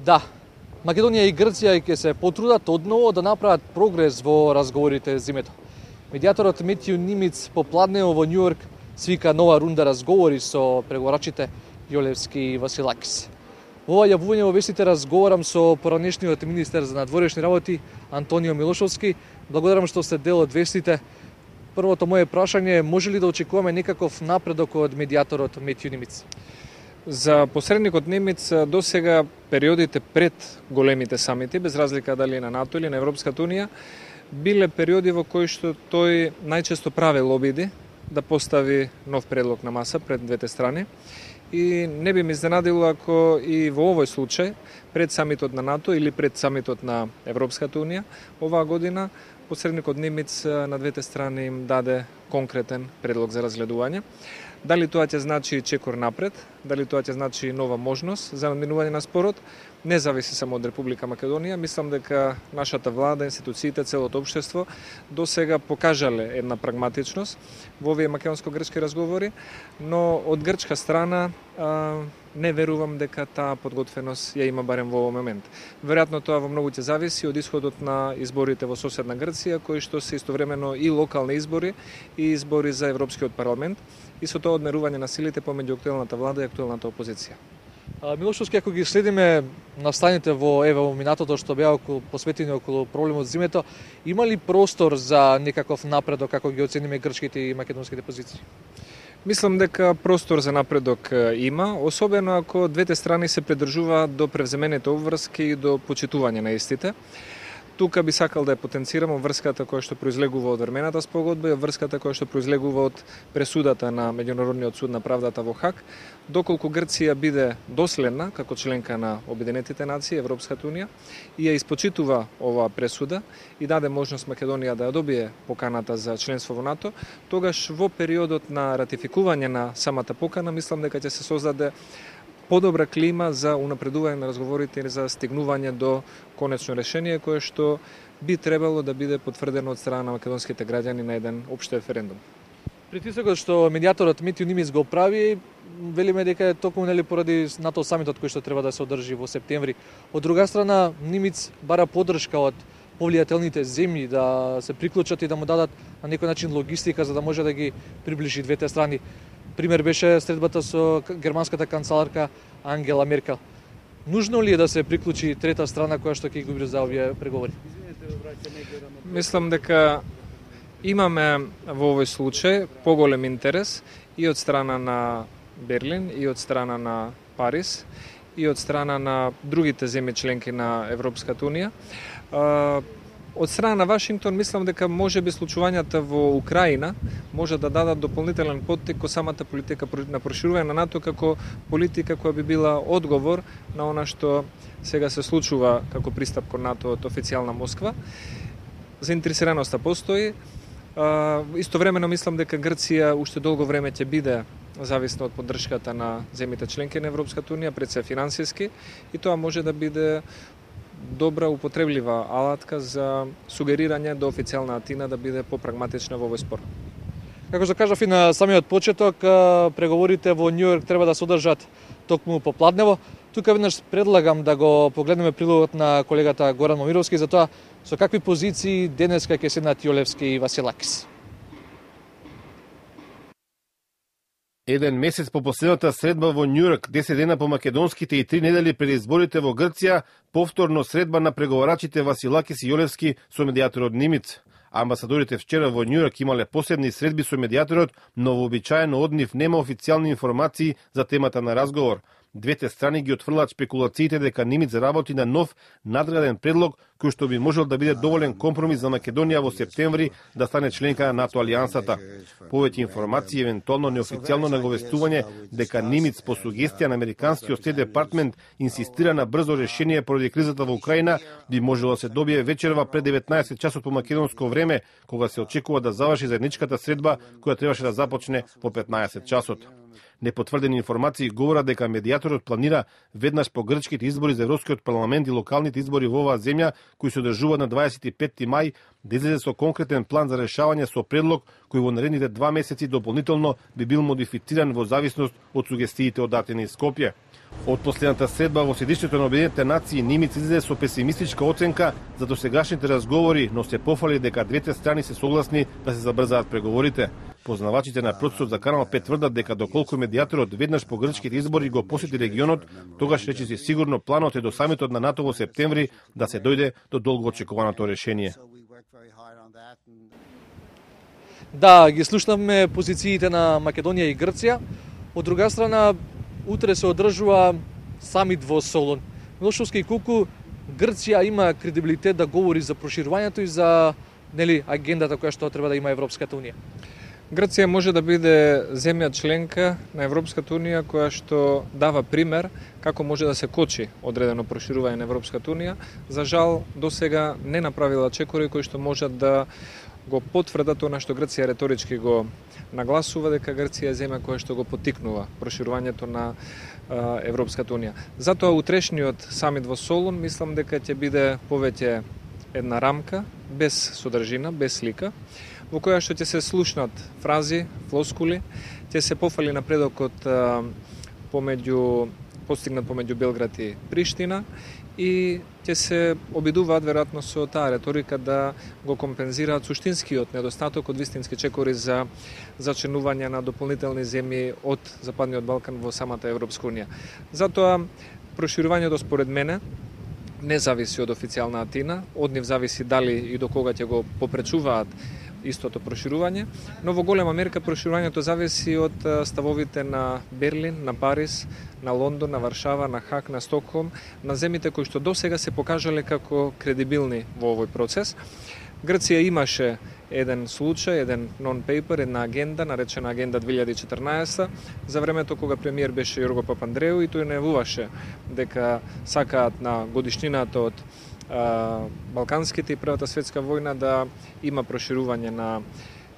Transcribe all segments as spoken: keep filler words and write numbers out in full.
Да, Македонија и Грција ќе се потрудат одново да направат прогрес во разговорите зимето. Медијаторот Метју Нимиц попладнево во Њујорк свика нова рунда разговори со преговарачите Јолевски и Василакис. Во ова јавување во вестите разговарам со поранешниот министер за надворешни работи Антонио Милошовски. Благодарам што сте дел од вестите. Првото моје прашање е, може ли да очекуваме некаков напредок од медијаторот Метју Нимиц? За посредникот Немец до сега периодите пред големите самити, без разлика дали на НАТО или на Европската унија, биле периоди во кои што тој најчесто правел обиди да постави нов предлог на маса пред двете страни. И не би ме изненадило ако и во овој случај, пред самитот на НАТО или пред самитот на Европската унија, оваа година посредникот Немец на двете страни им даде конкретен предлог за разгледување. Дали тоа ќе значи чекор напред, дали тоа ќе значи нова можност за надминување на спорот, не зависи само од Република Македонија. Мислам дека нашата влада, институциите, целото општество до сега покажале една прагматичност во овие македонско-грчки разговори, но од грчка страна а, не верувам дека таа подготвеност ја има барем во овој момент. Веројатно тоа во многу ќе зависи од исходот на изборите во соседна Грција, кои што се истовремено и локални избори и избори за Европскиот парламент, и со тоа одмерување на силите помеѓу актуелната влада и актуелната опозиција. Милошовски, ако ги следиме настаните во еве во минатото што беа околу посветени околу проблемот зимето, има ли простор за некаков напредок како ги оцениме грчките и македонските позиции? Мислам дека простор за напредок има, особено ако двете страни се придржуваат до превземените обврски и до почитување на истите. Тука би сакал да ја потенцирам врската која што произлегува од Вермената спогодба и врската која што произлегува од пресудата на Меѓународниот суд на правдата во Хаг. Доколку Грција биде доследна како членка на Обединетите нации, Европската унија, и ја испочитува оваа пресуда и даде можност Македонија да ја добие поканата за членство во НАТО, тогаш во периодот на ратификување на самата покана, мислам дека ќе се создаде подобра клима за унапредување на разговорите и за стигнување до конечно решение кое што би требало да биде потврдено од страна на македонските граѓани на еден општ референдум. Притисокот што медијаторот Метју Нимиц го прави, велиме дека е токму нели поради НАТО самитот кој што треба да се одржи во септември. Од друга страна, Нимиц бара поддршка од повлијателните земји да се приклучат и да му дадат на некој начин логистика за да може да ги приближи двете страни. Пример беше средбата со германската канцеларка Ангела Меркел. Нужно ли е да се приклучи трета страна која што ќе ги убрза овие преговори? Мислам дека имаме во овој случај поголем интерес и од страна на Берлин, и од страна на Париз, и од страна на другите земји членки на Европската унија. Од страна на Вашингтон, мислам дека може би случувањата во Украина може да дадат дополнителен поттик кон самата политика на проширување на НАТО како политика која би била одговор на она што сега се случува како пристап кон НАТО од официјална Москва. Заинтересираноста постои. Истовремено мислам дека Грција уште долго време ќе биде зависна од поддршката на земјите членки на Европската унија, пред се финансиски, и тоа може да биде добра употреблива алатка за сугерирање до официјална Атина да биде попрагматична во овој спор. Како што кажав и на самиот почеток, преговорите во Њујорк треба да се одржат токму попладнево. Тука веднаш предлагам да го погледнеме прилогот на колегата Горан Момировски за тоа со какви позиции денеска ќе седнат Јолевски и Василакис. Еден месец по последната средба во Њујорк, десет дена по македонските и три недели пред изборите во Грција, повторно средба на преговарачите Василакис и Јолевски со медијаторот Нимиц. Амбасадорите вчера во Њујорк имале посебни средби со медијаторот, но вообичаено од нив нема официјални информации за темата на разговор. Двете страни ги отфрлаат спекулациите дека Нимиц работи на нов надграден предлог кој што би можел да биде доволен компромис за Македонија во септември да стане членка на НАТО алијансата. Повеќе информации, евентуално неофицијално наговестување дека Нимиц по сугестија на американскиот Стейт Департмент инсистира на брзо решение поради кризата во Украина би можело да се добие вечерва пред деветнаесет часот по македонско време, кога се очекува да заврши заедничката средба која требаше да започне во петнаесет часот. Непотврдени информации говорат дека медијаторот планира веднаш по грчките избори за Европскиот парламент и локалните избори во оваа земја, кои се одржуваат на дваесет и петти мај, да излезе со конкретен план за решавање со предлог кој во наредните два месеци дополнително би бил модифициран во зависност од сугестиите од Атина и Скопје. Од последната средба во седишнието на Обединетите нации Нимиц излезе со песимистичка оценка за досегашните разговори, но се пофали дека двете страни се согласни да се забрзаат преговорите. Познавачите на процесот за Канал пет тврдат дека доколку медијаторот веднаш по грчките избори го посети регионот, тогаш речиси сигурно планот е до самитот на НАТО во септември да се дојде до долго очекуваното решение. Да, ги слушнаме позициите на Македонија и Грција. Од друга страна, утре се одржува самит во Солун. Милошовски и Куку, Грција има кредибилитет да говори за проширувањето и за нели агендата која што треба да има Европската унија. Грција може да биде земја членка на Европската унија која што дава пример како може да се кочи одредено проширување на Европската унија. За жал, досега не направила чекори кои што можат да го потврдат она што Грција реторички го нагласува, дека Грција е земја која што го поттикнува проширувањето на а, Европската унија. Затоа утрешниот самит во Солун мислам дека ќе биде повеќе една рамка без содржина, без слика, во која што ќе се слушнат фрази, флоскули, ќе се пофали напредокот а, помеѓу постигнат помеѓу Белград и Приштина и ќе се обидуваат веројатно со таа реторика да го компензираат суштинскиот недостаток од вистински чекори за зачинување на дополнителни земји од Западниот Балкан во самата Европска унија. Затоа проширувањето според мене не зависи од официјална Атина, од нив зависи дали и до кога ќе го попречуваат истото проширување, но во голема мерка проширувањето зависи од ставовите на Берлин, на Париз, на Лондон, на Варшава, на Хаг, на Стокхолм, на земите кои што досега се покажале како кредибилни во овој процес. Грција имаше еден случај, еден нон-пейпер, една агенда, наречена Агенда две илјади и четрнаесетта, за времето кога премиер беше Јорго Папандреу и тој најавуваше дека сакаат на годишнината од Балканските и Првата светска војна да има проширување на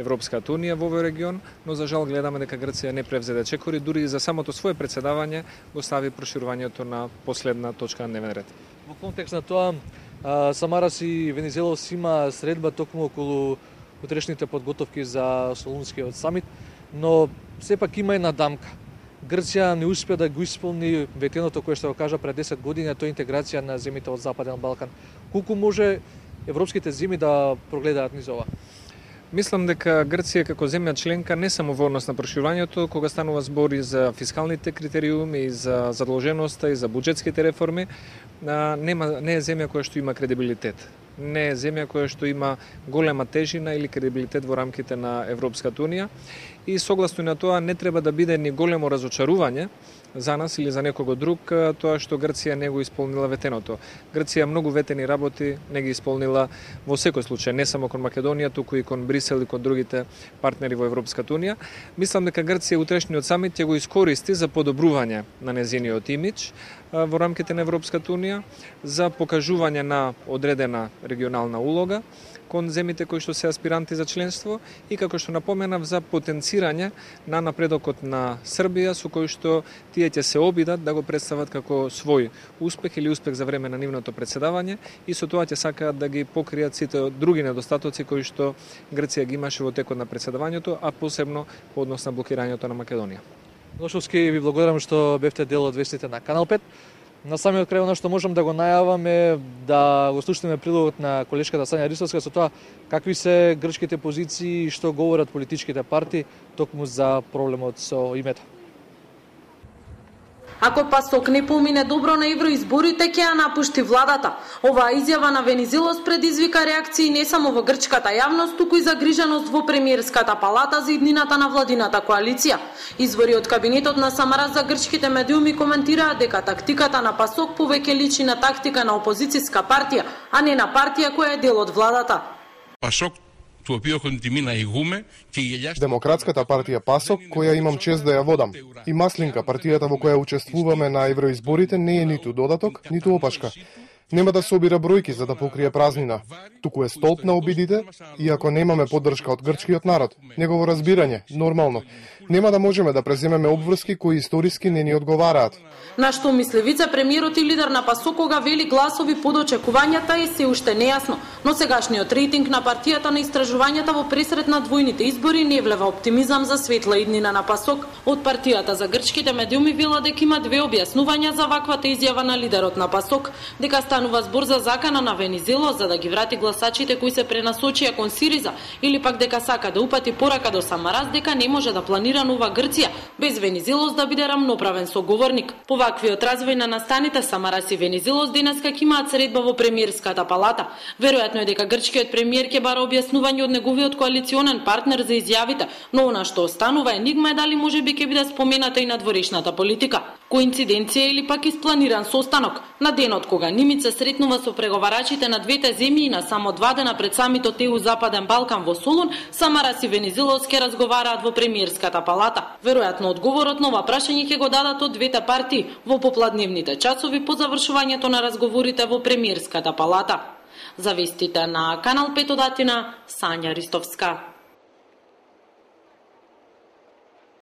Европската унија во овој регион, но за жал гледаме дека Грција не превзеде чекори, дури и за самото свое председавање го стави проширувањето на последна точка на дневен ред. Во контекст на тоа, Самарас и Венизелос има средба токму околу утрешните подготовки за Солунскиот самит, но сепак има една дамка. Грција не успеа да го исполни ветеното кое што го кажа пред десет години, а тоа е интеграција на земјите од Западен Балкан. Колку може европските земји да прогледаат низ ова? Мислам дека Грција како земја членка не само во однос на проширувањето, кога станува збори за фискалните критериуми и за задолженоста и за буџетските реформи, нема не е земја која што има кредибилитет. Не е земја која што има голема тежина или кредибилитет во рамките на Европската унија и согласно на тоа не треба да биде ни големо разочарување за нас или за некого друг тоа што Грција не го исполнила ветеното. Грција многу ветени работи не ги исполнила во секој случај, не само кон Македонија, туку и кон Брисел и кон другите партнери во Европската унија. Мислам дека Грција утрешниот самит ќе го искористи за подобрување на незиниот имидж во рамките на Европската унија, за покажување на одредена регионална улога кон земите кои што се аспиранти за членство и како што напоменав за потенцирање на напредокот на Србија со кој што тие ќе се обидат да го представат како свој успех или успех за време на нивното председавање и со тоа ќе сакаат да ги покријат сите други недостатоци кои што Грција ги имаше во текот на председавањето, а посебно по однос на блокирањето на Македонија. Милошовски, ви благодарам што бевте дел од вестите на Канал пет. На самиот крај она што можам да го најавам е да го слушнеме прилогот на колешката Сања Ристовска со тоа какви се грчките позиции и што говорат политичките партии токму за проблемот со името. Ако ПАСОК не помине добро на евроизборите, ќе ја напушти владата. Оваа изјава на Венизелос предизвика реакции не само во грчката јавност, туку и загриженост во премиерската палата за иднината на владината коалиција. Извори од кабинетот на Самарас за грчките медиуми коментираат дека тактиката на ПАСОК повеќе личи на тактика на опозицијска партија, а не на партија која е дел од владата. ПАСОК του οποίου έχω την τιμή να ηγούμε και η ελιά... Демократската партија ПАСОК, која имам чест да ја водам, и Маслинка, партијата во која учествуваме на евроизборите, не е ниту додаток, ниту опашка. Нема да се обира бројки за да покрие празнина, туку е столб на обидите, и ако немаме поддршка од грчкиот народ, негово разбирање, нормално, нема да можеме да преземеме обврски кои историски не ни одговараат. На што мисли вице-премиерот и лидер на ПАСОК кога вели гласови под очекувањата е се уште нејасно, но сегашниот рейтинг на партијата на истражувањата во пресрет на двојните избори не влева оптимизам за светла иднина на ПАСОК. Од партијата за грчките медиуми вела дека има две објаснувања за ваквата изјава на лидерот на ПАСОК, дека станува збор за закана на Венизелос за да ги врати гласачите кои се пренасочија кон Сириза, или пак дека сака да упати порака до Самарас дека не може да планира нова Грција без Венизелос да биде рамноправен соговорник. По ваквиот развој на настаните Самарас и Венизелос денеска ќе имаат средба во премиерската палата. Веројатно е дека грчкиот премиер ќе бара објаснување од неговиот коалиционен партнер за изјавите, но она што останува енигма е дали можеби ќе биде спомената и надворешната политика. Коинциденција или пак испланиран состанок на денот кога Нимиц се сретнува со преговарачите на двете земји и на само два дена пред самитот Е У Западен Балкан во Солун, Самарас и Венизелос ќе разговараат во премиерската палата. Веројатно одговорот на ова прашање ќе го дадат од двете партии во попладневните часови по завршувањето на разговорите во премиерската палата. За вестите на Канал пет од Атина, Сања Ристовска.